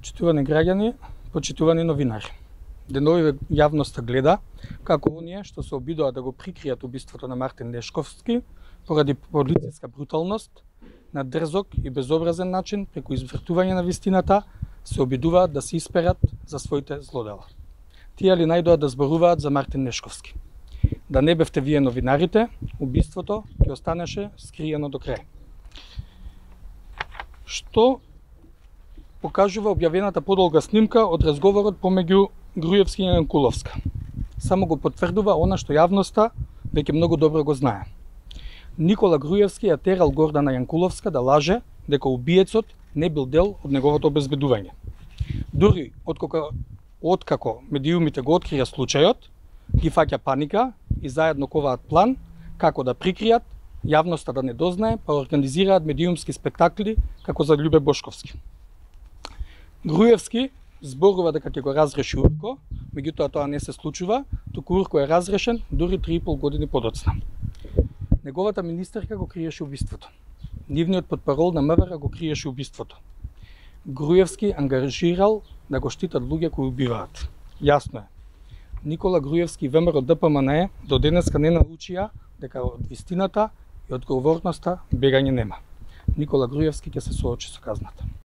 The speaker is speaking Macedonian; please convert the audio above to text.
Почитувани граѓани, почитувани новинари. Деновиве јавноста гледа како оние што се обидоа да го прикријат убиството на Мартин Нешковски поради полициска бруталност, на дрзок и безобразен начин, преку извртување на вистината, се обидуваат да се исперат за своите злодела. Тие ли најдоа да зборуваат за Мартин Нешковски? Да не бевте вие новинарите, убиството ќе останеше скриено до крај. Што покажува објавената подолга снимка од разговорот помеѓу Груевски и Јанкуловска? Само го потврдува она што јавноста веќе многу добро го знае. Никола Груевски ја терал Гордана Јанкуловска да лаже дека убиецот не бил дел од неговото обезбедување. Дури откако медиумите го открија случајот, ги фаќа паника и заедно коваат план како да прикријат, јавноста да не дознае, па организираат медиумски спектакли како за Љубе Бошковски. Груевски зборува дека ќе го разреши Урко, меѓутоа тоа не се случува, туку Урко е разрешен дури 3,5 години подоцна. Неговата министерка го криеше убиството. Нивниот потпарол на МВР го криеше убиството. Груевски ангажирал да го штитат луѓе кои убиваат. Јасно е. Никола Груевски и ВМРО ДПМНЕ до денеска не научија дека од вистината и одговорноста бегање нема. Никола Груевски ќе се соочи со казната.